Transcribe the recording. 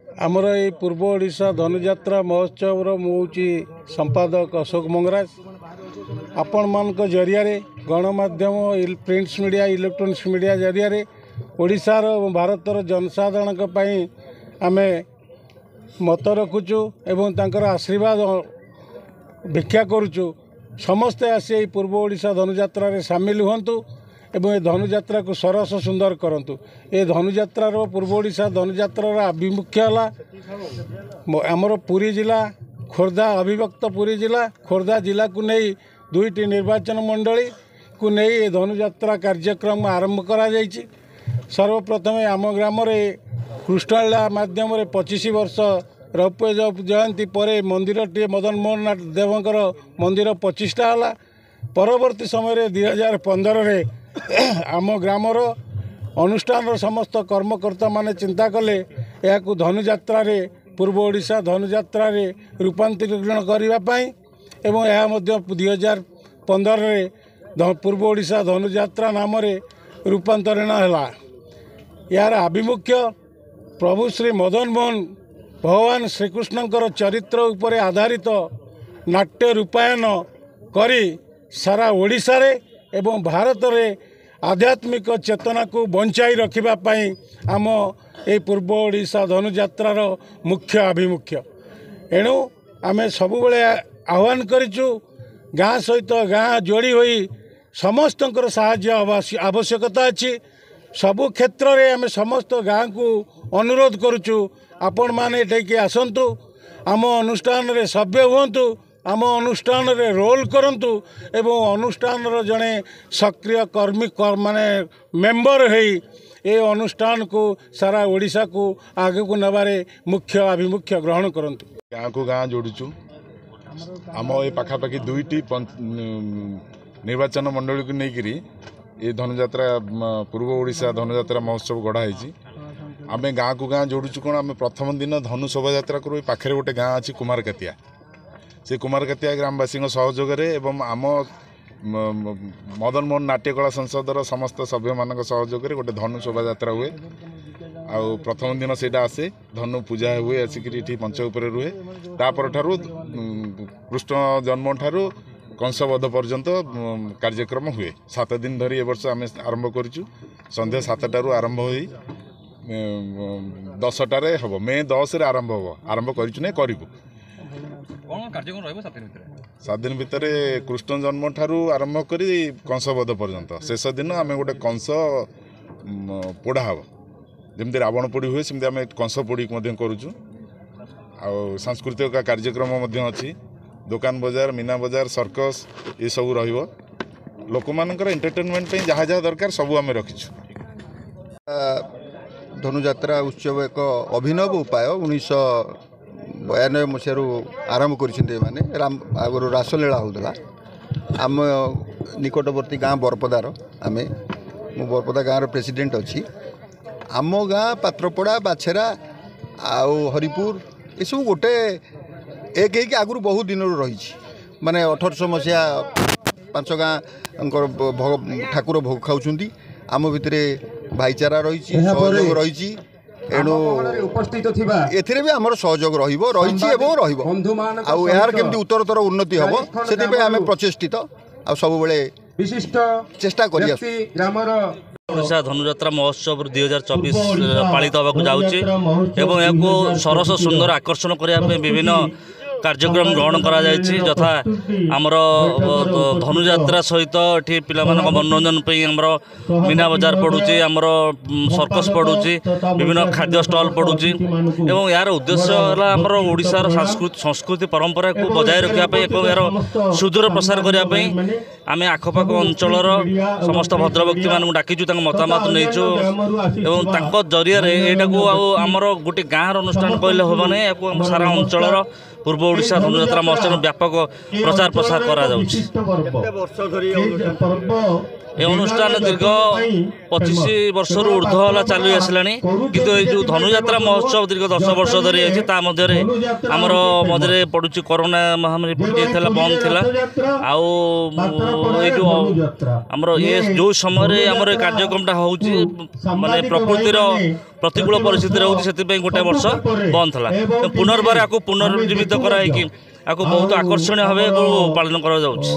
ଆମର ଏଇ ପୂର୍ବ ଓଡ଼ିଶା ଧନୁଯାତ୍ରା ମହୋତ୍ସବର ମୁଁ ହେଉଛି ସମ୍ପାଦକ ଅଶୋକ ମଙ୍ଗରାଜ। ଆପଣମାନଙ୍କ ଜରିଆରେ ଗଣମାଧ୍ୟମ, ପ୍ରିଣ୍ଟସ୍ ମିଡ଼ିଆ, ଇଲେକ୍ଟ୍ରୋନିକ୍ସ ମିଡ଼ିଆ ଜରିଆରେ ଓଡ଼ିଶାର ଏବଂ ଭାରତର ଜନସାଧାରଣଙ୍କ ପାଇଁ ଆମେ ମତ ରଖୁଛୁ ଏବଂ ତାଙ୍କର ଆଶୀର୍ବାଦ ଭିକ୍ଷା କରୁଛୁ। ସମସ୍ତେ ଆସି ଏହି ପୂର୍ବ ଓଡ଼ିଶା ଧନୁଯାତ୍ରାରେ ସାମିଲ ହୁଅନ୍ତୁ ଏବଂ ଏ ଧନୁଯାତ୍ରାକୁ ସରସ ସୁନ୍ଦର କରନ୍ତୁ। ଏ ଧନୁଯାତ୍ରାର, ପୂର୍ବ ଓଡ଼ିଶା ଧନୁଯାତ୍ରାର ଆଭିମୁଖ୍ୟ ହେଲା ଆମର ପୁରୀ ଜିଲ୍ଲା, ଖୋର୍ଦ୍ଧା, ଅବିଭକ୍ତ ପୁରୀ ଜିଲ୍ଲା, ଖୋର୍ଦ୍ଧା ଜିଲ୍ଲାକୁ ନେଇ ଦୁଇଟି ନିର୍ବାଚନ ମଣ୍ଡଳୀକୁ ନେଇ ଏ ଧନୁଯାତ୍ରା କାର୍ଯ୍ୟକ୍ରମ ଆରମ୍ଭ କରାଯାଇଛି। ସର୍ବପ୍ରଥମେ ଆମ ଗ୍ରାମରେ କୃଷ୍ଣଲୀଳା ମାଧ୍ୟମରେ 25 ବର୍ଷ ରୌପ୍ୟ ଜୟନ୍ତୀ ପରେ ମନ୍ଦିରଟିଏ, ମଦନ ମୋହନ ଦେବଙ୍କର ମନ୍ଦିର ପ୍ରତିଷ୍ଠା ହେଲା। ପରବର୍ତ୍ତୀ ସମୟରେ 2015ରେ ଆମ ଗ୍ରାମର ଅନୁଷ୍ଠାନର ସମସ୍ତ କର୍ମକର୍ତ୍ତାମାନେ ଚିନ୍ତା କଲେ ଏହାକୁ ଧନୁଯାତ୍ରାରେ, ପୂର୍ବ ଓଡ଼ିଶା ଧନୁଯାତ୍ରାରେ ରୂପାନ୍ତରୀକରଣ କରିବା ପାଇଁ ଏବଂ ଏହା ମଧ୍ୟ 2015ରେ ପୂର୍ବ ଓଡ଼ିଶା ଧନୁଯାତ୍ରା ନାମରେ ରୂପାନ୍ତରଣ ହେଲା। ଏହାର ଆଭିମୁଖ୍ୟ ପ୍ରଭୁ ଶ୍ରୀ ମଦନ ମୋହନ ଭଗବାନ ଶ୍ରୀକୃଷ୍ଣଙ୍କର ଚରିତ୍ର ଉପରେ ଆଧାରିତ ନାଟ୍ୟ ରୂପାୟନ କରି ସାରା ଓଡ଼ିଶାରେ ଏବଂ ଭାରତରେ ଆଧ୍ୟାତ୍ମିକ ଚେତନାକୁ ବଞ୍ଚାଇ ରଖିବା ପାଇଁ ଆମ ଏହି ପୂର୍ବ ଓଡ଼ିଶା ଧନୁଯାତ୍ରାର ମୁଖ୍ୟ ଆଭିମୁଖ୍ୟ। ଏଣୁ ଆମେ ସବୁବେଳେ ଆହ୍ୱାନ କରିଛୁ, ଗାଁ ସହିତ ଗାଁ ଯୋଡ଼ି ହୋଇ ସମସ୍ତଙ୍କର ସାହାଯ୍ୟ ଆବଶ୍ୟକତା ଅଛି। ସବୁ କ୍ଷେତ୍ରରେ ଆମେ ସମସ୍ତ ଗାଁକୁ ଅନୁରୋଧ କରୁଛୁ, ଆପଣମାନେ ଏଠିକି ଆସନ୍ତୁ, ଆମ ଅନୁଷ୍ଠାନରେ ସଭ୍ୟ ହୁଅନ୍ତୁ, ଆମ ଅନୁଷ୍ଠାନରେ ରୋଲ୍ କରନ୍ତୁ ଏବଂ ଅନୁଷ୍ଠାନର ଜଣେ ସକ୍ରିୟ କର୍ମୀ ମାନେ ମେମ୍ବର ହେଇ ଏ ଅନୁଷ୍ଠାନକୁ ସାରା ଓଡ଼ିଶାକୁ ଆଗକୁ ନେବାରେ ମୁଖ୍ୟ ଆଭିମୁଖ୍ୟ ଗ୍ରହଣ କରନ୍ତୁ। ଗାଁକୁ ଗାଁ ଯୋଡ଼ୁଛୁ। ଆମ ଏ ପାଖାପାଖି ଦୁଇଟି ନିର୍ବାଚନ ମଣ୍ଡଳୀକୁ ନେଇକରି ଏ ଧନୁଯାତ୍ରା, ପୂର୍ବ ଓଡ଼ିଶା ଧନୁଯାତ୍ରା ମହୋତ୍ସବ ଗଢ଼ା ହେଇଛି। ଆମେ ଗାଁକୁ ଗାଁ ଯୋଡ଼ୁଛୁ କ'ଣ, ଆମେ ପ୍ରଥମ ଦିନ ଧନୁ ଶୋଭାଯାତ୍ରା କରୁ। ଏ ପାଖରେ ଗୋଟେ ଗାଁ ଅଛି କୁମାରକାତିଆ, ସେ କୁମାରକାତିଆ ଗ୍ରାମବାସୀଙ୍କ ସହଯୋଗରେ ଏବଂ ଆମ ମଦନ ମୋହନ ନାଟ୍ୟକଳା ସଂସଦର ସମସ୍ତ ସଭ୍ୟମାନଙ୍କ ସହଯୋଗରେ ଗୋଟେ ଧନୁ ଶୋଭାଯାତ୍ରା ହୁଏ। ଆଉ ପ୍ରଥମ ଦିନ ସେଇଟା ଆସେ, ଧନୁ ପୂଜା ହୁଏ, ଆସିକିରି ଏଠି ମଞ୍ଚ ଉପରେ ରୁହେ। ତାପରଠାରୁ କୃଷ୍ଣ ଜନ୍ମଠାରୁ କଂସବଧ ପର୍ଯ୍ୟନ୍ତ କାର୍ଯ୍ୟକ୍ରମ ହୁଏ। 7 ଦିନ ଧରି ଏ ବର୍ଷ ଆମେ ଆରମ୍ଭ କରିଛୁ। ସନ୍ଧ୍ୟା 7ଟାରୁ ଆରମ୍ଭ ହୋଇ 10ଟାରେ ହେବ। ମେ 10ରେ ଆରମ୍ଭ ହେବ। ଆରମ୍ଭ କରିଛୁ ନାଇଁ, କରିବୁ। 7 ଦିନ ଭିତରେ କୃଷ୍ଣ ଜନ୍ମ ଠାରୁ ଆରମ୍ଭ କରି କଂସବଧ ପର୍ଯ୍ୟନ୍ତ। ଶେଷ ଦିନ ଆମେ ଗୋଟେ କଂସ ପୋଡ଼ା ହେବ। ଯେମିତି ରାବଣ ପୋଡ଼ି ହୁଏ, ସେମିତି ଆମେ କଂସ ପୋଡ଼ି ମଧ୍ୟ କରୁଛୁ। ଆଉ ସାଂସ୍କୃତିକ କାର୍ଯ୍ୟକ୍ରମ ମଧ୍ୟ ଅଛି। ଦୋକାନ ବଜାର, ମୀନା ବଜାର, ସର୍କସ୍ ଏସବୁ ରହିବ। ଲୋକମାନଙ୍କର ଏଣ୍ଟରଟେନମେଣ୍ଟ ପାଇଁ ଯାହା ଯାହା ଦରକାର ସବୁ ଆମେ ରଖିଛୁ। ଧନୁଯାତ୍ରା ଉତ୍ସବ ଏକ ଅଭିନବ ଉପାୟ 1992 ମସିହାରୁ ଆରମ୍ଭ କରିଛନ୍ତି ଏମାନେ। ଆଗରୁ ରାସଲୀଳା ହେଉଥିଲା। ଆମ ନିକଟବର୍ତ୍ତୀ ଗାଁ ବରପଦାର, ଆମେ, ମୁଁ ବରପଦା ଗାଁର ପ୍ରେସିଡେଣ୍ଟ ଅଛି। ଆମ ଗାଁ ପାତ୍ରପଡ଼ା, ବାଛେରା ଆଉ ହରିପୁର ଏସବୁ ଗୋଟେ ଏକ ହେଇକି ଆଗରୁ ବହୁତ ଦିନରୁ ରହିଛି। ମାନେ 1800 ମସିହା 5 ଗାଁଙ୍କର ଠାକୁର ଭୋଗ ଖାଉଛନ୍ତି। ଆମ ଭିତରେ ଭାଇଚାରା ରହିଛି, ସହଯୋଗ ରହିଛି। ଏଣୁ ଏଥିରେ ବି ଆମର ସହଯୋଗ ରହିବ, ରହିଛି ଏବଂ ରହିବ। ଆଉ ଏହାର କେମିତି ଉତ୍ତରୋତ୍ତର ଉନ୍ନତି ହେବ ସେଥିପାଇଁ ଆମେ ପ୍ରଚେଷ୍ଟିତ ଆଉ ସବୁବେଳେ ଚେଷ୍ଟା କରି ଆସୁ। ଓଡ଼ିଶା ଧନୁଯାତ୍ରା ମହୋତ୍ସବ 2024 ପାଳିତ ହେବାକୁ ଯାଉଛି ଏବଂ ଏହାକୁ ସରସ ସୁନ୍ଦର ଆକର୍ଷଣ କରିବା ପାଇଁ ବିଭିନ୍ନ କାର୍ଯ୍ୟକ୍ରମ ଗ୍ରହଣ କରାଯାଇଛି। ଯଥା ଆମର ଧନୁଯାତ୍ରା ସହିତ ଏଠି ପିଲାମାନଙ୍କ ମନୋରଞ୍ଜନ ପାଇଁ ଆମର ମୀନା ବଜାର ପଡ଼ୁଛି, ଆମର ସର୍କସ୍ ପଡ଼ୁଛି, ବିଭିନ୍ନ ଖାଦ୍ୟ ଷ୍ଟଲ୍ ପଡ଼ୁଛି ଏବଂ ଏହାର ଉଦ୍ଦେଶ୍ୟ ହେଲା ଆମର ଓଡ଼ିଶାର ସଂସ୍କୃତି ପରମ୍ପରାକୁ ବଜାୟ ରଖିବା ପାଇଁ ଏବଂ ଏହାର ସୁଦୂର ପ୍ରସାର କରିବା ପାଇଁ ଆମେ ଆଖପାଖ ଅଞ୍ଚଳର ସମସ୍ତ ଭଦ୍ରବ୍ୟକ୍ତିମାନଙ୍କୁ ଡାକିଛୁ, ତାଙ୍କ ମତାମତ ନେଇଛୁ ଏବଂ ତାଙ୍କ ଜରିଆରେ ଏଇଟାକୁ ଆଉ ଆମର ଗୋଟେ ଗାଁର ଅନୁଷ୍ଠାନ କହିଲେ ହେବ ନାହିଁ, ଏହାକୁ ଆମ ସାରା ଅଞ୍ଚଳର ପୂର୍ବ ଓଡ଼ିଶା ଧନୁଯାତ୍ରା ମହୋତ୍ସବ ବ୍ୟାପକ ପ୍ରଚାର ପ୍ରସାର କରାଯାଉଛି। ଏ ଅନୁଷ୍ଠାନ ଦୀର୍ଘ 25 ବର୍ଷରୁ ଉର୍ଦ୍ଧ୍ୱ ହେଲା ଚାଲି ଆସିଲାଣି, କିନ୍ତୁ ଏଇ ଯେଉଁ ଧନୁଯାତ୍ରା ମହୋତ୍ସବ ଦୀର୍ଘ 10 ବର୍ଷ ଧରି ଅଛି। ତା ମଧ୍ୟରେ ଆମର ମଝିରେ ପଡ଼ୁଛି କରୋନା ମହାମାରୀ ପଡ଼ିଯାଇଥିଲା, ବନ୍ଦ ଥିଲା। ଆଉ ଏଇ ଯେଉଁ ଆମର ଏ ଯେଉଁ ସମୟରେ ଆମର ଏ କାର୍ଯ୍ୟକ୍ରମଟା ହେଉଛି, ମାନେ ପ୍ରକୃତିର ପ୍ରତିକୂଳ ପରିସ୍ଥିତି ରହୁଛି, ସେଥିପାଇଁ ଗୋଟେ ବର୍ଷ ବନ୍ଦ ଥିଲା। ପୁନର୍ବାର ଆକୁ ପୁନର୍ଜୀବିତ କରାହେଇକି ଆକୁ ବହୁତ ଆକର୍ଷଣୀୟ ଭାବେ ପାଳନ କରାଯାଉଛି।